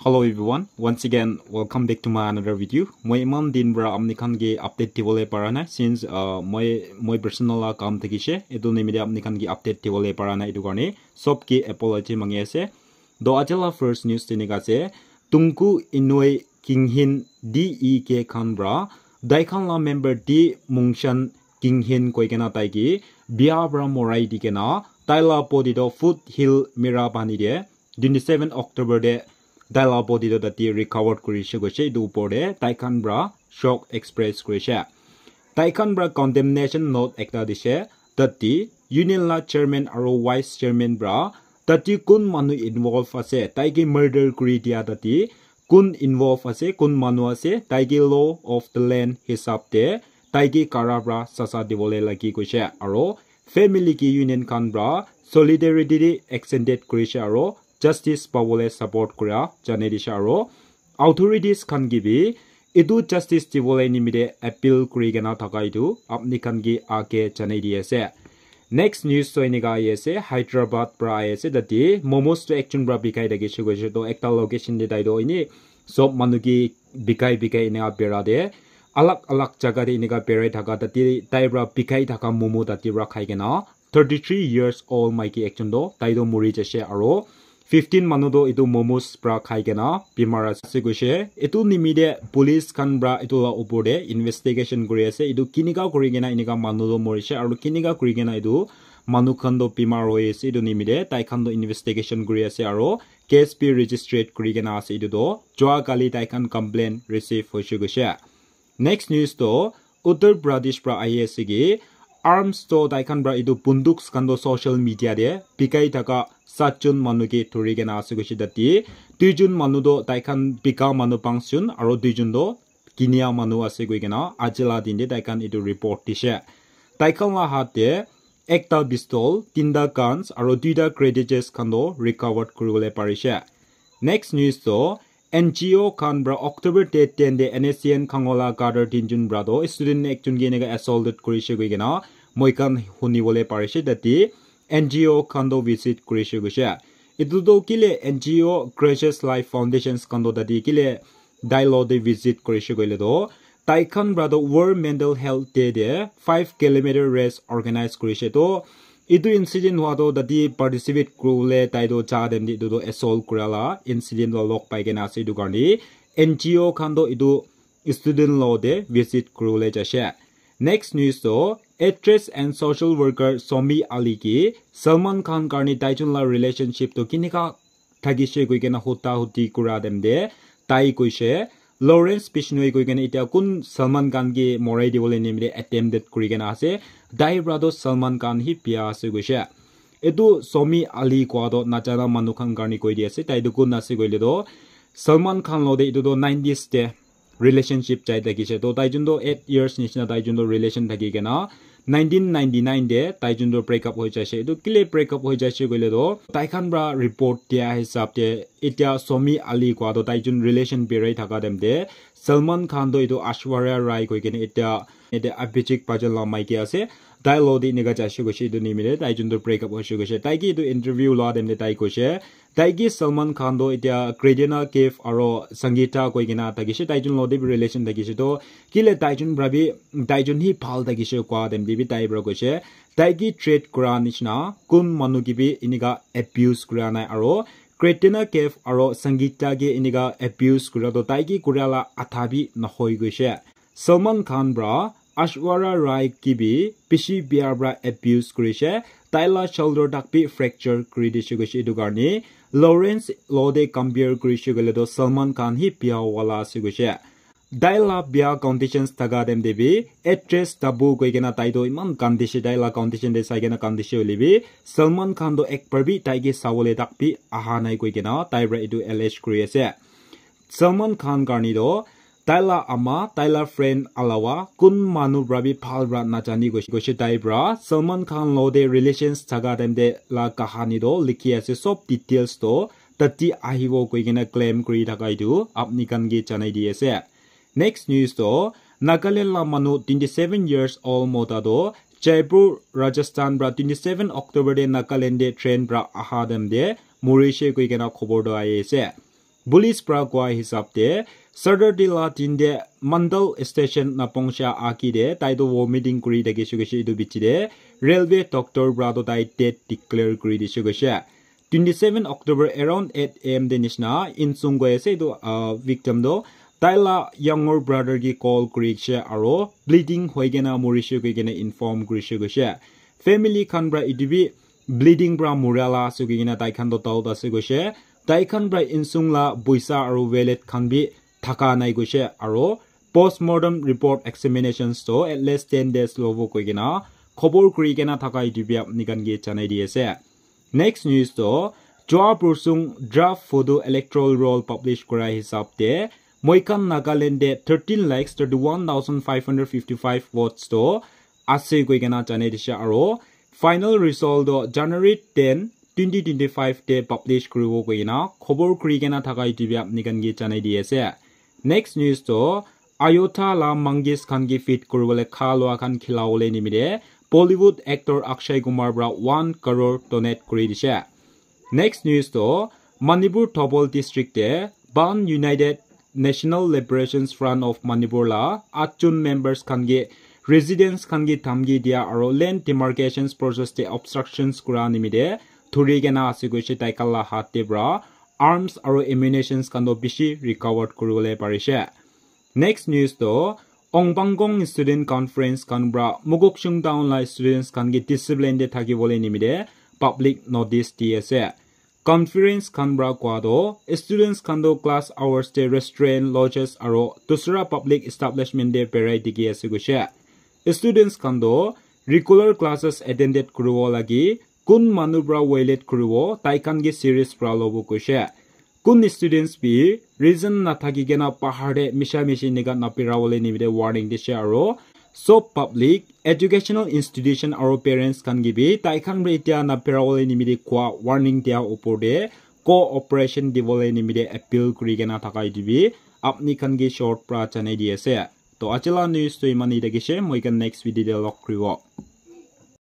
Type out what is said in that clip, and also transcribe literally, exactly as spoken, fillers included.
Hello everyone, once again welcome back to my another video. Moi iman din pra apni khan ke update dibole para nai since uh, moi moi personal la kam thakishe, etu nimite apni khan ke update dibole para nai, etu karne sob ke apology mangi ase. To aji la first news teneka ase, Tunku Inoi Kinghin D E K khan pra tai khan la member D Mungshan Kinghin koi kena tai ke bia pra morai di kena tai la body to Foothill Mira pani de twenty seven October de tai la body to tati recovered kurishe koishe, etu upor de tai khan pra shock express kurishe. Tai khan pra condemnation note ekta dishe, tati union la chairman aro vice chairman pra tati kun manu involve ase, tai ke murder kuri dia tati kun involve ase, kun manu ase, tai ke law of the land hisab te tai ke kara pra saza dibole lagi koishe, aro family ke union khan pra solidarity de extended kurishe aro justice pabole support kura janai dishe, aro authorities khan ke bi etu justice dibole nimite appeal kuri kena thaka etu apni khan ke age janai di ase. Next news to eneka ahi ase, Hyderabad pra ahi ase, tate momos to ekjon pra bikai thakishe koishe to ekta location te tai to ene sob manu ke bikai bikai eneka bera de alag alag jaga te eneka berai thaka tate tai pra bikai thaka momo tate pra khai kena thirty three years old maiki ekjon to tai to muri jaishe aro fifteen manu to etu momos pra khai kena bimar ase koishe. Etu nimite police khan pra etu la upor te investigation kuri ase, etu kinika kuri kena eneka manu to morishe aro kinika kuri kena etu manu khan to bimar hoi ase, etu nimite tai khan to investigation kuri ase aro case bi registered kuri kena ase. Etu to jua kali tai khan complaint receive hoishe koishe. Next news to Uttar Pradesh pra ahi ase ki arms to tai khan pra etu bunduks khan to social media de bikai thaka satjon manu ke thuri kena ase koishe tate duijon manu to tai khan bika manu pangjon aro duijon to kinia manu ase koi kena aji la din de tai khan etu report dishe. Tai khan la hat te ekta pistol, tinta guns aro duita cartridges khan to recovered kuribole parishe. Next news to N G O khan pra October date ten de N S C N Khangola cadre tinjon pra to student ekjon ke eneka assaulted kurishe koi kena moi khan hunibole parishe tate N G O khan to visit kurishe koishe. Etu to kile N G O Gracious Life Foundations khan to tate kile tai lo de visit kurishe koile to tai khan pra to World Mental Health Day de five kilometer race organize kurishe to etu incident hua to tate participate kuribole tai to ja time de etu to assault kura la incident to log pai kena ase, etu karne N G O khan to etu student lo de visit kuribole jaishe. Next news to actress and social worker Somi Ali ki Salman Khan karne taijon la relationship to kinika thakishe koi kena huta huti kura time de tai koishe Lawrence Bishnoi koi kena etia kun Salman Khan ke morai dibole nimite attempted kuri kena ase, tai pra to Salman Khan hi bia ase koishe. Etu Somi Ali koa to najana manu khan karne koi di ase, tai to kun ase koile to Salman Khan lo de etu to nineties de relationship jai thakishe. To taijon to eight years nishina taijon to relation thaki kena nineteen ninety nine de taijon to break up hoi jaishe. Etu kile break up hoi jaishe koile to tai khan pra report dia hisab de etia Somi Ali koa to taijon relation berai thaka time de Salman Khan to etu Aishwarya Rai koi kena etia ete Abhishek Bachchan la maiki ase, tai lo de eneka jaishe koishe, etu nimite taijon to break up hoishe koishe. Tai ke etu interview la time de tai koishe tai ke Salman Khan to etia Katrina Kaif aro Sangeeta koi kena thakishe, taijon lo de bi relation thakishe to kile taijon pra bi taijon hi bhal thakishe koa time de bi tai pra koishe tai ke treat kura nishina kun manu ke bi eneka abuse kura nai aro Katrina Kaif aro Sangeeta ke eneka abuse kura to tai ke kura la adha bi nohoi koishe. Salman Khan pra Aishwarya Rai ke bi bishi bia pra abuse kurishe, tai la shoulder tak bi fracture kuri dishe koishe, etu karne Lawrence lo de compare kurishe koile to Salman Khan hi bia wala ase koishe. Tai la bia conditions thaka time de bi actress tabu koi kena tai to iman kandishe, tai la condition de sai kena kandishe hoile bi Salman Khan to ekbar bi tai ke sabole tak bi aha nai koi kena tai pra etu allege kuri ase. Salman Khan karne to tai la ama, tai la friend alawa kun manu pra bi bhal pra najani koishe, koishe tai pra Salman Khan lo de relations thaka time de la kahani to likhi ase, sob details to tati ahibo koi kena claim kuri thaka etu apni khan ke janai di ase. Next news to Nagaland la manu twenty seven years old mota to Jaipur, Rajasthan pra twenty seven October de Nagaland de train pra aha time de murishe koi kena khobor to ahi ase. Police pra koa hisab te Saturday la din te Mandal station napongsa aki te tai toh vomiting kuri thakishe koishe, etu bichi te railway doctor pra toh tai dead declare kuri dishe koishe. Twenty seven October around eight a m te nishina Insung koi ase etu, ah, victim toh tai la younger brother ke call kuri dishe aro bleeding hoi kena morishe koi kena inform kurishe koishe. Family khan pra etu bi bleeding pra mura la ase koi kena tai khan toh doubt ase koishe. Tai khan pra Insung la poisa aro wallet khan bi thaka nai koishe aro postmortem report examinations toh at least ten days lobo koi kena khobor kuri kena thaka etu bi apni khan ke janai di ase. Next news toh Chua Pursung draft photo electoral roll publish kura hisab te moikhan Nagaland te thirteen lakhs thirty one thousand five hundred fifty five votes toh ase koi kena janai dishe aro final result toh January ten, twenty twenty five te publish kuribo koi kena khobor kuri kena thaka etu bi apni khan ke janai di ase. Next news toh Ayodhya la monkeys khan ke feed kuribole kha lua khan khilawole nimite Bollywood actor Akshay Kumar pra one crore donate kuri dishe. Next news toh Manipur Thoubal district te Ban United National Liberation Front of Manipur la atjon members khan ke residents khan ke dhamki dia aro land demarcations process te obstructions kura nimite thuri kena ase koishe tai khan la hat te pra arms aro ammunitions khan toh bishi recovered kuribole parishe. Next news toh Ongpangkong Student Conference khan pra Mokokchung Town la students khan ke discipline te thakibole nimite public notice di ase. Conference khan pra koa toh students khan toh class hours te restaurant, lodges aro dusra public establishment te berai dikhi ase koishe. Students khan toh regular classes attended kuribo lagi kun manu pra violate kuribo tai khan ke serious pra lobo koishe. Kun students bi reason nathaki kena bahar te misha mishi enika napira bole nimite warning dishe aro sob public educational institution aro parents khan ke bi tai khan pra etia napira bole nimite koa warning dia opor te cooperation dibole nimite appeal kuri kena thaka etu bi apni khan ke short pra janai di ase. To aji la news toh iman hi thakishe, moi khan next video te log kuribo.